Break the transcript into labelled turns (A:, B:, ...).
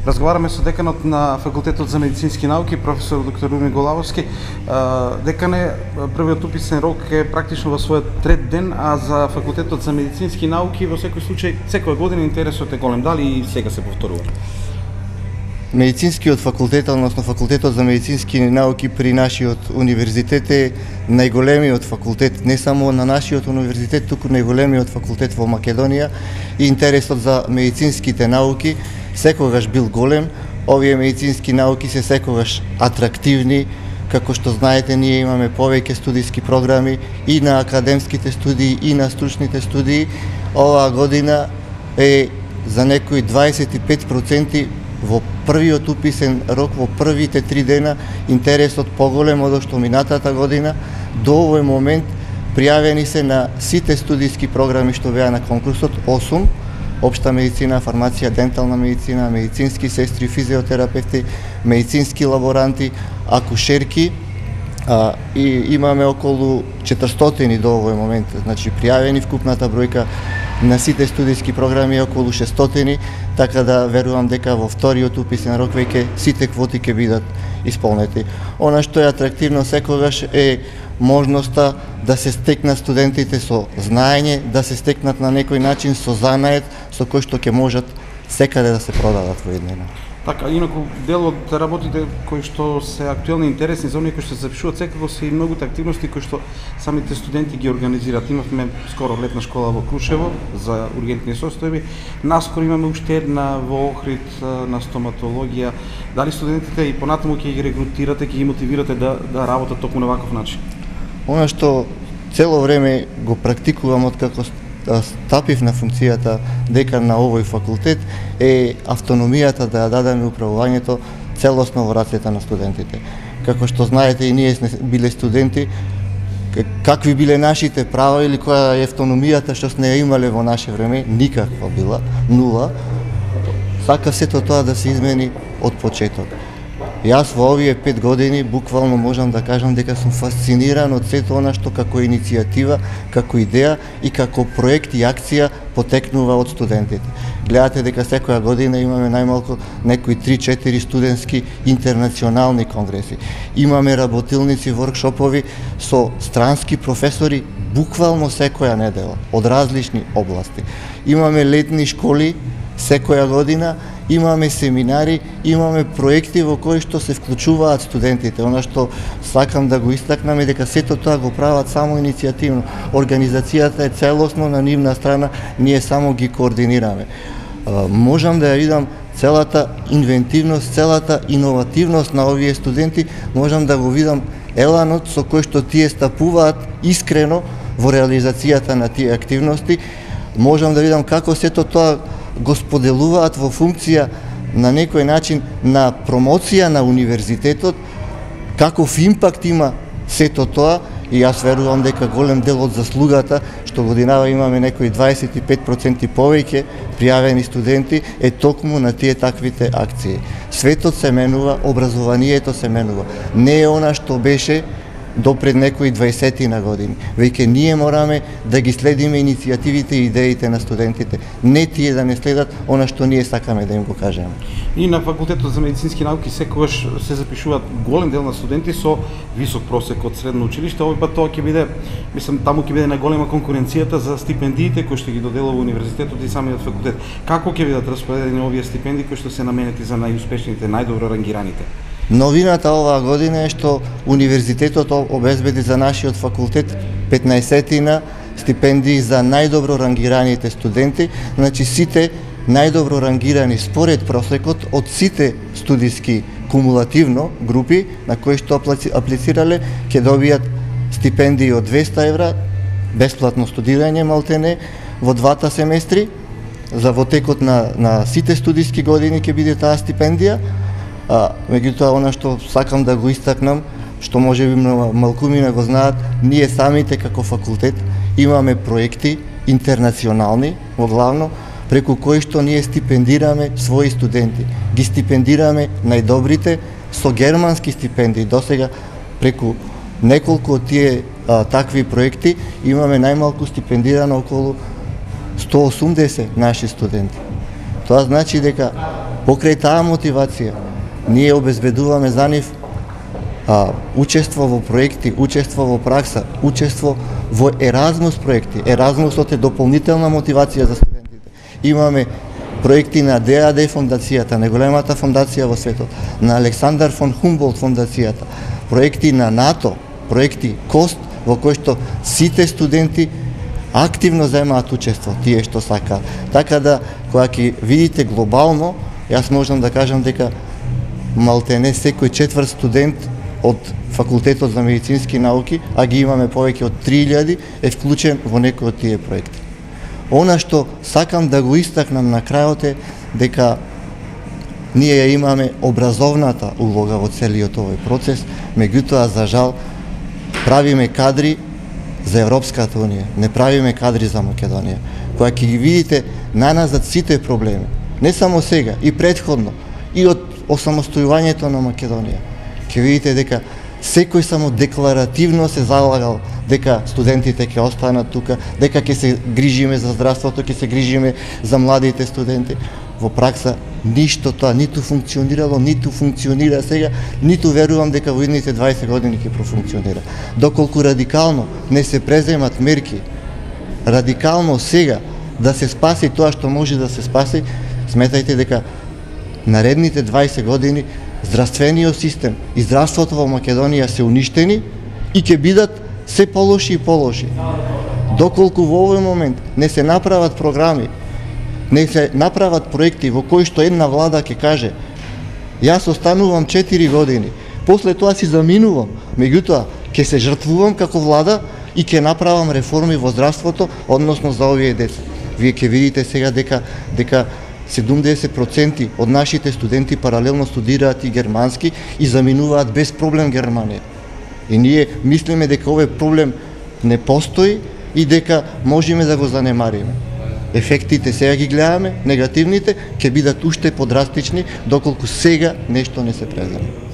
A: Разговараме со деканот на Факултетот за медицински науки, професор доктор Румен Голавовски. Декане, првиот уписен рок е практично во својот трет ден, а за Факултетот за медицински науки во секој случај секоја година интересот е голем. Дали и сега се повторува?
B: Медицинскиот факултет, односно Факултетот за медицински науки при нашиот универзитет е најголемиот факултет, не само на нашиот универзитет, туку најголемиот факултет во Македонија, и интересот за медицинските науки секогаш бил голем. Овие медицински науки се секогаш атрактивни, како што знаете, ние имаме повеќе студиски програми и на академските студии и на стручните студии. Оваа година е за некои 25% во првиот уписен рок, во првите 3 дена, интересот поголем од што минатата година. До овој момент пријавени се на сите студиски програми што беа на конкурсот 8: општа медицина, фармација, дентална медицина, медицински сестри, физиотерапевти, медицински лаборанти, акушерки, и имаме околу 400 до овој момент, значи пријавени. Вкупната бројка на сите студиски програми е околу 600, така да верувам дека во вториот уписен рок веќе сите квоти ќе бидат исполнети. Она што е атрактивно секогаш е можноста да се стекнат студентите со знаење, да се стекнат на некој начин со занает со кој што ќе можат секаде да се продадат во еднина.
A: Така, инаку дел од работите кои што се актуелни и интересни за оние кои што се запишуваат секако се и многуте активности кои што самите студенти ги организираат. Имавме скоро летна школа во Крушево за ургентни состојби. Наскоро имаме уште една во Охрид на стоматологија. Дали студентите и понатаму ќе ги регрутирате, ќе ги мотивирате да работат токму на ваков начин?
B: Она што цело време го практикувам откако стапив на функцијата декан на овој факултет е автономијата да ја дадеме управувањето целосно во рацете на студентите. Како што знаете и ние сме биле студенти, какви биле нашите права или која е автономијата што сме ја имале во наше време, никаква била, нула. Сака сето тоа да се измени од почеток. Јас во овие 5 години буквално можам да кажам дека сум фасциниран од сето она што како иницијатива, како идеја и како проект и акција потекнува од студентите. Гледате дека секоја година имаме најмалку некои 3-4 студентски интернационални конгреси. Имаме работилници, воркшопови со странски професори буквално секоја недела од различни области. Имаме летни школи секоја година, имаме семинари, имаме проекти во кои што се вклучуваат студентите. Она што сакам да го истакнам е дека сето тоа го прават само иницијативно. Организацијата е целосно на нивна страна, ние само ги координираме. Можам да ја видам целата инвентивност, целата иновативност на овие студенти, можам да го видам еланот со кој што тие стапуваат искрено во реализацијата на тие активности. Можам да видам како сето тоа го споделуваат во функција на некој начин на промоција на универзитетот, каков импакт има сето тоа, и јас верувам дека голем дел од заслугата што годинава имаме некои 25% повеќе пријавени студенти е токму на тие таквите акции. Светот се менува, образованието се менува. Не е она што беше до пред некои 20 на години. Веќе ние мораме да ги следиме иницијативите и идеите на студентите. Не тие да не следат она што ние сакаме да им го кажеме.
A: И на Факултетот за медицински науки секогаш се запишуваат голем дел на студенти со висок просек од средно училиште. Овој пат тоа ќе биде, мислам, таму ќе биде најголема конкуренцијата за стипендиите кои што ги доделува универзитетот и самиот факултет. Како ќе бидат распределени овие стипендии кои што се наменети за најуспешните, најдобро рангираните?
B: Новината оваа година е што универзитетот обезбеди за нашиот факултет 15 стипендии за најдобро рангираните студенти, значи сите најдобро рангирани според просекот од сите студиски кумулативно групи на кои што аплицирале ќе добијат стипендии од 200 евра, бесплатно студирање малтене во 2 семестри, за во текот на сите студиски години ќе биде таа стипендија. Меѓутоа, она што сакам да го истакнам, што можеби малкумина го знаат, ние самите како факултет имаме проекти интернационални, во главно, преку кои што ние стипендираме своји студенти. Ги стипендираме најдобрите со германски стипендии. Досега преку неколку од тие такви проекти имаме најмалку стипендирано околу 180 наши студенти. Тоа значи дека Покрај таа мотивација, ние обезбедуваме за нив учество во проекти, учество во пракса, учество во Еразмус проекти. Еразмусот е дополнителна мотивација за студентите. Имаме проекти на ДАД фондацијата, најголемата фондација во светот, на Александар фон Хумболт фондацијата, проекти на НАТО, проекти КОСТ, во кои што сите студенти активно земаат учество, тие што сакаат. Така да, кога ќе видите глобално, јас можам да кажам дека малтене секој четврт студент од Факултетот за медицински науки, а ги имаме повеќе од 3000, е вклучен во некој од тие проекти. Она што сакам да го истакнам на крајот е дека ние ја имаме образовната улога во целиот овој процес, меѓутоа за жал правиме кадри за Европската унија, не правиме кадри за Македонија. Кога ќе ги видите наназад сите проблеми, не само сега, и претходно, и од осамостојувањето на Македонија, ќе видите дека секој само декларативно се залагал дека студентите ќе останат тука, дека ќе се грижиме за здравството, ќе се грижиме за младите студенти. Во пракса ништо тоа ниту функционирало, ниту функционира сега, ниту верувам дека во идните 20 години ќе профункционира. Доколку радикално не се преземат мерки, радикално сега да се спаси тоа што може да се спаси, сметајте дека наредните 20 години здравствениот систем и здравството во Македонија се уништени и ќе бидат се полоши и полоши. Доколку во овој момент не се направат програми, не се направат проекти во кои што една влада ќе каже јас останувам 4 години, после тоа си заминувам, меѓутоа ќе се жртвувам како влада и ќе направам реформи во здравството, односно за овие деца. Вие ќе видите сега дека 70% од нашите студенти паралелно студираат и германски и заминуваат без проблем Германија. И ние мислиме дека овој проблем не постои и дека можеме да го занемариме. Ефектите сега ги гледаме, негативните ќе бидат уште подрастични доколку сега нешто не се преземе.